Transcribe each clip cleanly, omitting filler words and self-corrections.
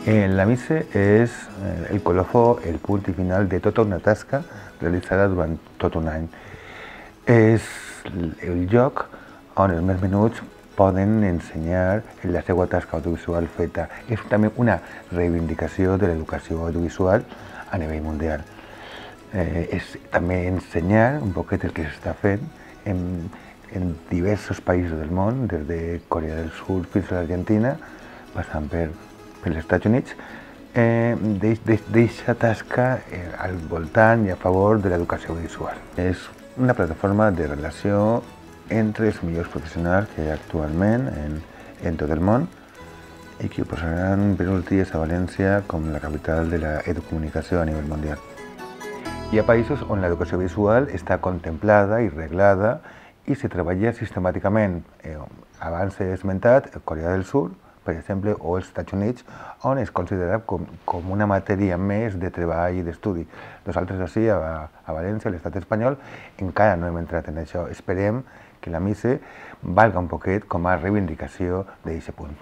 La missa és el colofó, el punt i final de tota una tasca realitzada durant tot un any. És el lloc on els més menuts poden ensenyar la seva tasca audiovisual feta. És també una reivindicació de l'educació audiovisual a nivell mundial. És també ensenyar un poquet el que s'està fent en diversos països del món, des de Corea del Sud fins a l'Argentina, passant pels Estats Units, d'aquesta tasca al voltant i a favor de l'educació visual. És una plataforma de relació entre els millors professionals que hi ha actualment en tot el món i que ho posaran per uns dies a València com la capital de l'educomunicació a nivell mundial. Hi ha països on l'educació visual està contemplada i reglada i se treballa sistemàticament. Abans he esmentat Corea del Sud, per exemple, o els Estats Units, on es considera com una matèria més de treball i d'estudi. Nosaltres així, a València, a l'estat espanyol, encara no hem entrat en això. Esperem que la missa valga un poquet com a reivindicació d'aquest punt.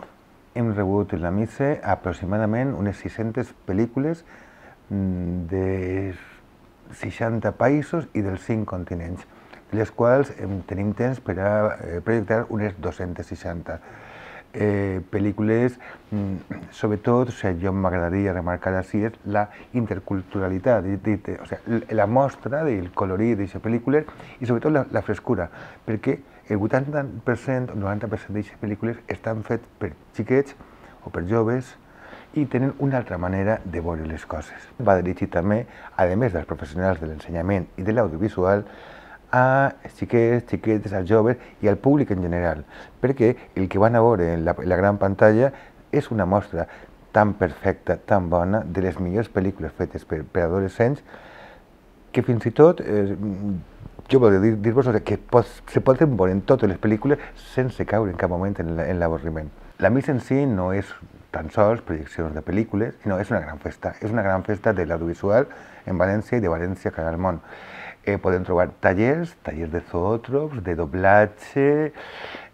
Hem rebut en la missa aproximadament unes 600 pel·lícules de 60 països i dels 5 continents, de les quals tenim temps per a projectar unes 260 pel·lícules. Sobretot, jo m'agradaria remarcar així, és la interculturalitat, la mostra del colorit d'aquestes pel·lícules i sobretot la frescura, perquè el 80% o 90% d'aquestes pel·lícules estan fetes per xiquets o per joves i tenen una altra manera de veure les coses. Va dirigit també, a més dels professionals de l'ensenyament i de l'audiovisual, a xiquets, xiquetes, als joves i al públic en general, perquè el que van a veure en la gran pantalla és una mostra tan perfecta, tan bona, de les millors pel·lícules fetes per adolescents, que fins i tot, jo volia dir-vos que se poden veure en totes les pel·lícules sense caure en cap moment en l'avorriment. La missa en si no és tan sols projeccions de pel·lícules, sinó és una gran festa de l'audiovisual en València i de València cara al món. Podem trobar tallers de zoòtrops, de doblatge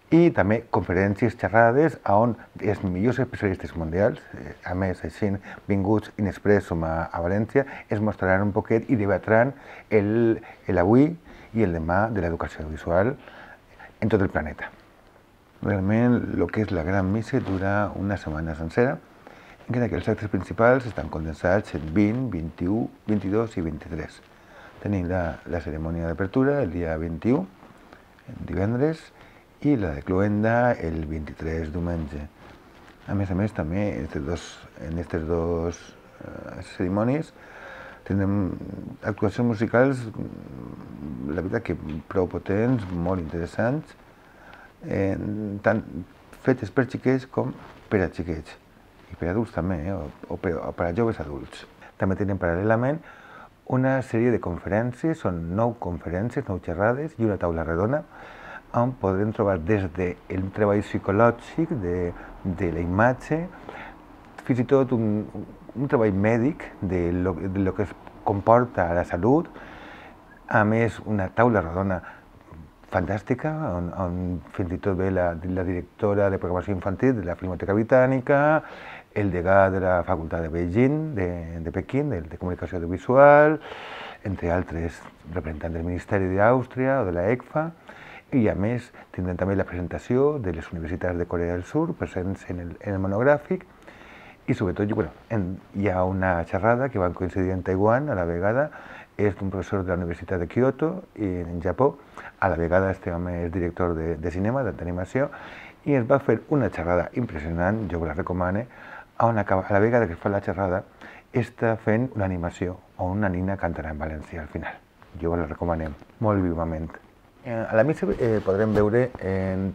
i també conferències, xerrades, on els millors especialistes mundials, a més així vinguts in expressum a València, es mostraran un poquet i debatran l'avui i el demà de l'educació visual en tot el planeta. Realment, el que és la gran missa dura una setmana sencera, en què els actes principals estan condensats en 20, 21, 22 i 23. Tenim la cerimònia d'apertura el dia 21, divendres, i la de cloenda el 23, diumenge. A més, també, en aquestes dues cerimònies tindrem actuacions musicals, la veritat que prou potents, molt interessants, tant fetes per xiquets com per a xiquets, i per a adults també, o per a joves adults. També tenim paral·lelament una sèrie de conferències, són 9 conferències, 9 xerrades i una taula redona, on podrem trobar des del treball psicològic, de la imatge, fins i tot un treball mèdic de lo que es comporta a la salut, a més una taula redona fantàstica, on fins i tot ve la directora de programació infantil de la Filmoteca Britànica, el degà de la Facultat de Beijing, de Pequín, de comunicació audiovisual, entre altres representants del Ministeri d'Àustria o de la ECFA, i a més tindrem també la presentació de les universitats de Corea del Sud presents en el monogràfic, i sobretot hi ha una xerrada que van coincidir en Taiwan a la vegada, és d'un professor de la Universitat de Kyoto, en Japó, a la vegada este home és director de cinema, d'animació, i es va fer una xerrada impressionant, jo la recomano, on a la vegada que fa la xerrada està fent una animació on una nina cantarà en valencià al final. Jo la recomanem molt vivament. A la missa podrem veure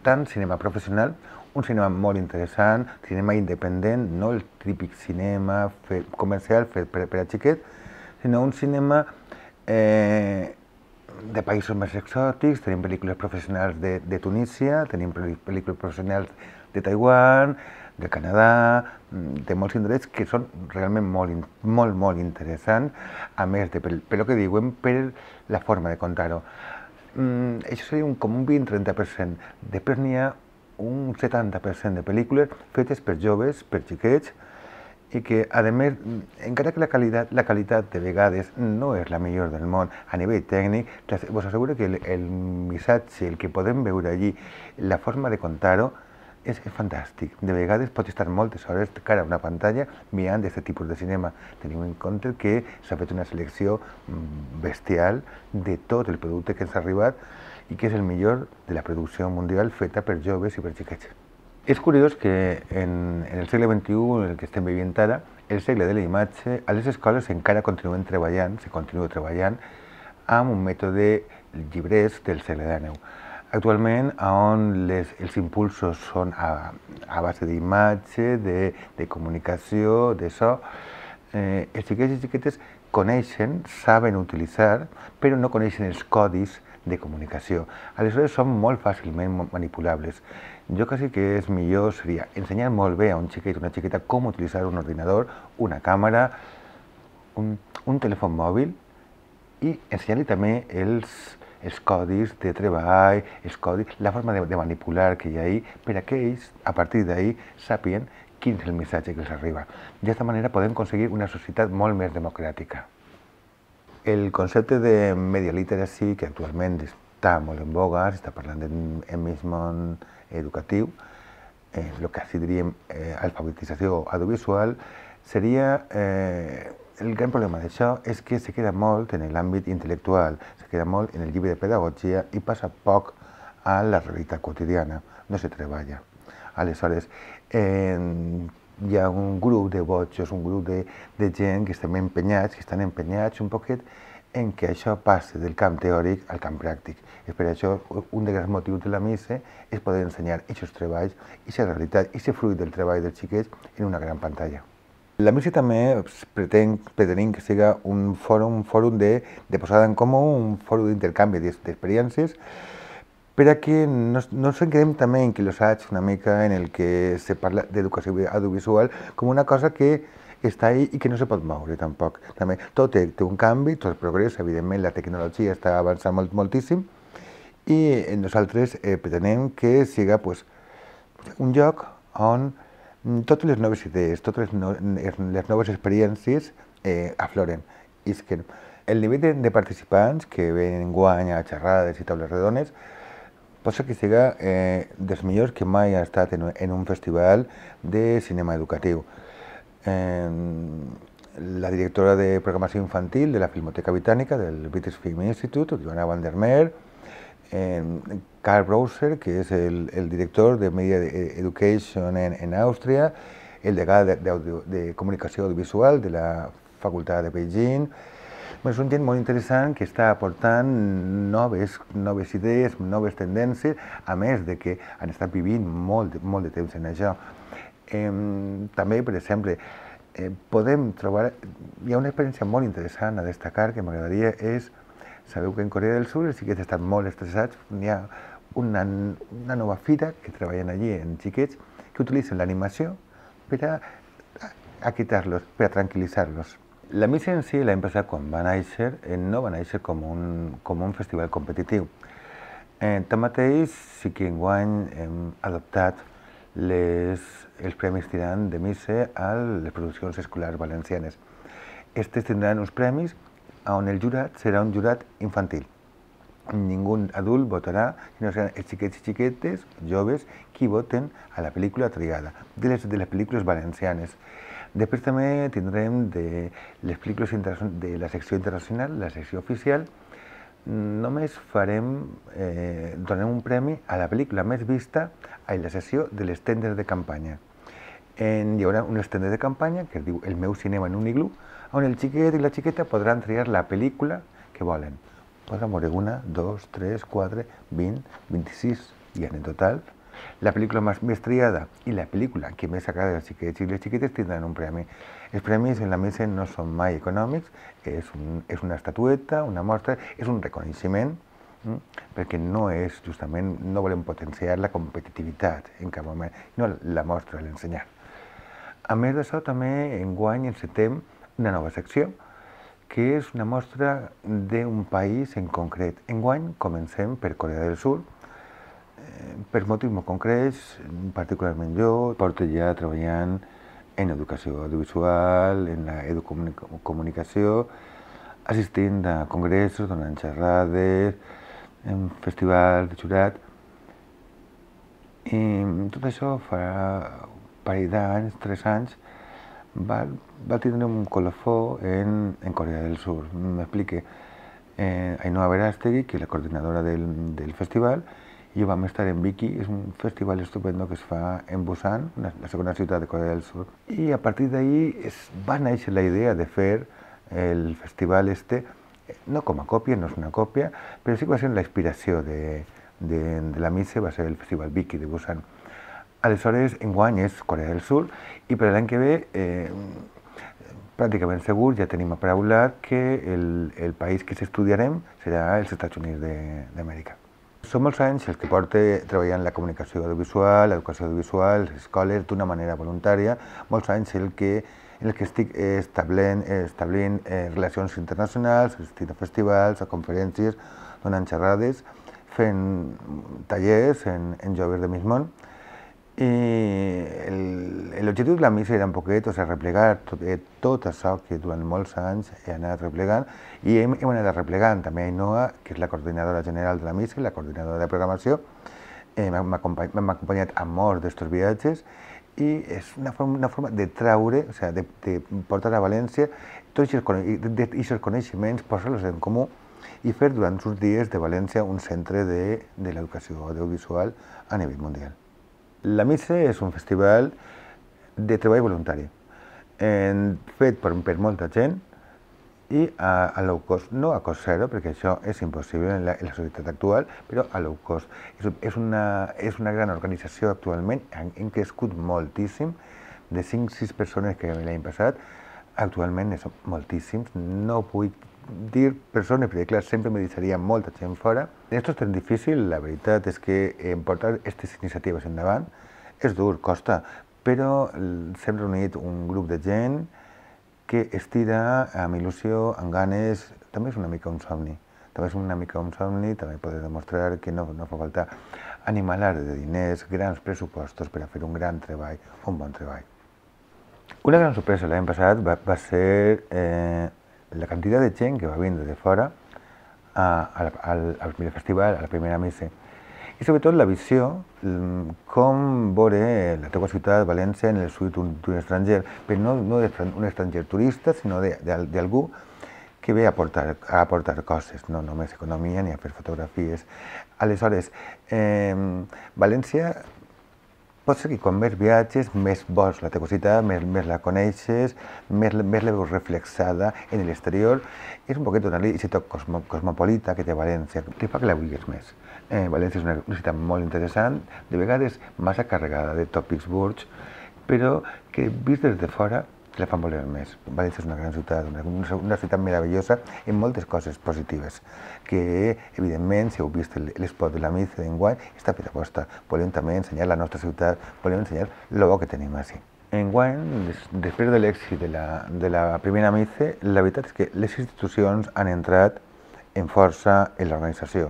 tant cinema professional, un cinema molt interessant, cinema independent, no el típic cinema comercial fet per a xiquet, sinó un cinema de països més exòtics. Tenim pel·lícules professionals de Tunísia, tenim pel·lícules professionals de Taiwan, de Canadà, de molts indrets que són realment molt interessants, a més de, per el que diuen, per la forma de contar-ho. Això seria com un 20-30%. Després n'hi ha un 70% de pel·lícules fetes per joves, per xiquets, i que, a més, encara que la qualitat de vegades no és la millor del món a nivell tècnic, vos asseguro que el missatge, el que podem veure allí, la forma de contar-ho, és fantàstic. De vegades pots estar moltes hores de cara a una pantalla mirant aquest tipus de cinema. Tenim en compte que s'ha fet una selecció bestial de tot el producte que ens ha arribat i que és el millor de la producció mundial feta per joves i per xiquets. És curiós que en el segle XXI, en el que estem vivint ara, el segle de la imatge, a les escoles encara se continua treballant amb un mètode llibrers del segle XIX. Actualment, on els impulsos són a base d'imatge, de comunicació, de so, els xiquets i xiquetes coneixen, saben utilitzar, però no coneixen els codis de comunicació. Aleshores, són molt fàcilment manipulables. Jo quasi que és millor seria ensenyar molt bé a un xiquet o una xiqueta com utilitzar un ordinador, una càmera, un telèfon mòbil i ensenyar-li també els codis de treball, la forma de manipular que hi ha ahí, per a que ells, a partir d'ahí, sàpiguen quin és el missatge que els arriba. D'aquesta manera podem aconseguir una societat molt més democràtica. El concepte de media literacy, que actualment està molt en boga, s'està parlant en mig món educatiu, el que així diríem alfabetització audiovisual, seria el gran problema d'això és que se queda molt en l'àmbit intel·lectual, se queda molt en el llibre de pedagogia i passa poc a la realitat quotidiana, no se treballa. Aleshores, hi ha un grup de botxos, un grup de gent que estan empenyats un poquet en què això passi del camp teòric al camp pràctic. És per això un dels grans motius de la MICE és poder ensenyar aquests treballs, aquesta realitat, aquest fruit del treball dels xiquets en una gran pantalla. La MICE també pretenem que sigui un fòrum de posada en comú, un fòrum d'intercanvi d'experiències, per a que no ens quedem també en quilossats una mica en el que se parla d'educació audiovisual com una cosa que està ahí i que no se pot moure tampoc. També tot té un canvi, tot progressa, evidentment la tecnologia està avançant moltíssim i nosaltres pretenem que sigui un lloc on totes les noves idees, totes les noves experiències afloren. El nivell de participants que venen enguany a xerrades i taules redones pot ser que sigui dels millors que mai ha estat en un festival de cinema educatiu. La directora de programació infantil de la Filmoteca Britànica, del British Film Institute, Joanna van der Meer, Karl Browser, que és el director de Media Education en Àustria, el degà de comunicació audiovisual de la Facultat de Beijing. És un gent molt interessant que està aportant noves idees, noves tendències, a més de que han estat vivint molt de temps en això. També, per exemple, podem trobar... Hi ha una experiència molt interessant a destacar que m'agradaria és... Sabeu que en Corea del Sur els xiquets estan molt estressats. Hi ha una nova fira que treballen allí en xiquets que utilitzen l'animació per a aquietar-los, per a tranquil·litzar-los. La MICE en si, l'any passat, quan va néixer, no va néixer com un festival competitiu. Tanmateix, sí que enguany hem adoptat els Premis Tirant de MICE a les produccions escolars valencianes. Estes tindran uns premis on el jurat serà un jurat infantil. Ningú adult votarà, sinó seran els xiquets i xiquetes, joves, qui voten a la pel·lícula triada, de les pel·lícules valencianes. Després també tindrem de les pel·lícules de la secció internacional, la secció oficial. Només donarem un premi a la pel·lícula més vista a la sessió de les tendes de campanya. Hi haurà unes tendes de campanya que es diu El meu cinema en un iglú, on el xiquet i la xiqueta podran triar la pel·lícula que volen. Podran veure 1, 2, 3, 4, 20, 26 i en total. La pel·lícula més triada i la pel·lícula que més agrada als xiquets i les xiquetes tindran un premi. Els premis en la MICE no són mai econòmics, és una estatueta, una mostra, és un reconeixement, perquè no volem potenciar la competitivitat en cap moment, no la mostra, l'ensenyar. A més d'això, també enguany encetem una nova secció, que és una mostra d'un país en concret. Enguany comencem per Corea del Sur, per motius molt concrets, particularment jo porto ja treballant en educació audiovisual, en educomunicació, assistint a congressos, donant xerrades, en festivals de jurat. I tot això farà un parell d'anys, 3 anys, va tindre un colofó en Corea del Sur. M'explique. Ainhoa Verástegui, que és la coordinadora del festival, i jo vam estar en Viki. És un festival estupendo que es fa en Busan, la segona ciutat de Corea del Sur. I a partir d'ahir va néixer la idea de fer el festival no com a còpia, no és una còpia, però sí que va ser la inspiració de la MICE, va ser el festival Viki de Busan. Aleshores, enguany és Corea del Sur, i per l'any que ve, pràcticament segur, ja tenim apraulat que el país que s'estudiarem serà els Estats Units d'Amèrica. Són molts anys els que porto treballant la comunicació audiovisual, l'educació audiovisual, les escoles, d'una manera voluntària, molts anys en el que estic establint relacions internacionals, assistint a festivals, a conferències, donant xerrades, fent tallers en joves de mig món. I l'objectiu de la MICE era un poquet replegar tot això que durant molts anys he anat replegant, i hem anat replegant també Ainhoa, que és la coordinadora general de la MICE, la coordinadora de programació. M'ha acompanyat a molts d'estos viatges, i és una forma de traure, de portar a València tots aquests coneixements, posar-los en comú i fer durant uns dies de València un centre de l'educació audiovisual a nivell mundial. La MICE és un festival de treball voluntari, fet per molta gent i a low cost, no a cost zero, perquè això és impossible en la societat actual, però a low cost. És una gran organització actualment, hem crescut moltíssim, de 5-6 persones que l'any passat, actualment són moltíssims, no vull dir persones, perquè clar, sempre me deixaria molta gent fora. Esto és tan difícil, la veritat és que portar aquestes iniciatives endavant és dur, costa, però s'hem reunit un grup de gent que estira amb il·lusió, amb ganes. També és una mica un somni, també poder demostrar que no fa falta animalar de diners, grans pressupostos per a fer un gran treball, un bon treball. Una gran sorpresa l'any passat va ser la quantitat de gent que va vindre de fora al primer festival, a la primera MICE. I sobretot la visió, com veure la teva ciutat, València, en el suït d'un estranger, però no un estranger turista, sinó d'algú que ve a aportar coses, no només economia ni a fer fotografies. Aleshores, València pot ser que quan més viatges, més vols la teva ciutat, més la coneixes, més la veus reflexada en l'exterior. És un poquet donar-li aquest toc cosmopolita que té València, que fa que la vulguis més. València és una ciutat molt interessant, de vegades massa carregada de tòpics burds, però que vist des de fora la fan voler més. València és una gran ciutat, una ciutat meravellosa en moltes coses positives, que evidentment, si heu vist l'espot de la MICE d'enguany, està fet aposta. Volem també ensenyar la nostra ciutat, volem ensenyar el bo que tenim així. Enguany, després de l'èxit de la primera MICE, la veritat és que les institucions han entrat en força en l'organització.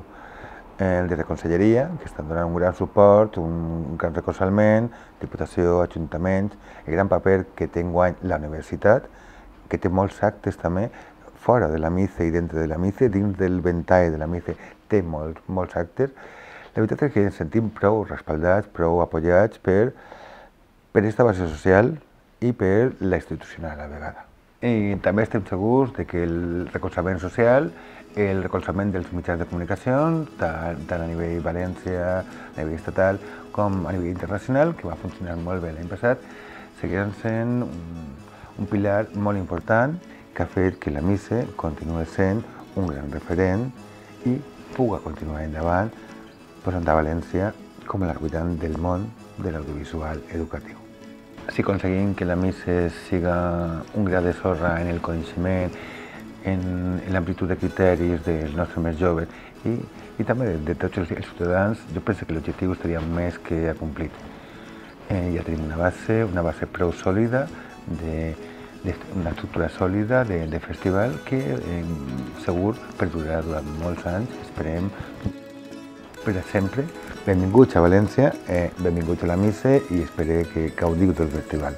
Des de Conselleria, que estan donant un gran suport, un gran recolzament, Diputació, Ajuntaments, el gran paper que té enguany la universitat, que té molts actes també fora de la MICE i dintre de la MICE, dins del ventall de la MICE té molts actes. La veritat és que ens sentim prou respaldats, prou apoyats per aquesta base social i per la institucional a la vegada. I també estem segurs que el recolzament social, el recolzament dels mitjans de comunicació, tant a nivell València, a nivell estatal, com a nivell internacional, que va funcionar molt bé l'any passat, seguiran sent un pilar molt important que ha fet que la MICE continuï sent un gran referent i pugui continuar endavant, posant a València com la capital del món de l'audiovisual educatiu. Si aconseguim que la MICE siga un gra de sorra en el coneixement, en l'amplitud de criteris dels nostres més joves i també de tots els ciutadans, jo penso que l'objectiu estaria més que acomplit. Ja tenim una base prou sòlida, una estructura sòlida de festival que segur perdurarà durant molts anys, esperem per sempre. Benvinguts a València, benvinguts a la MICE i espero que gaudiu del festival.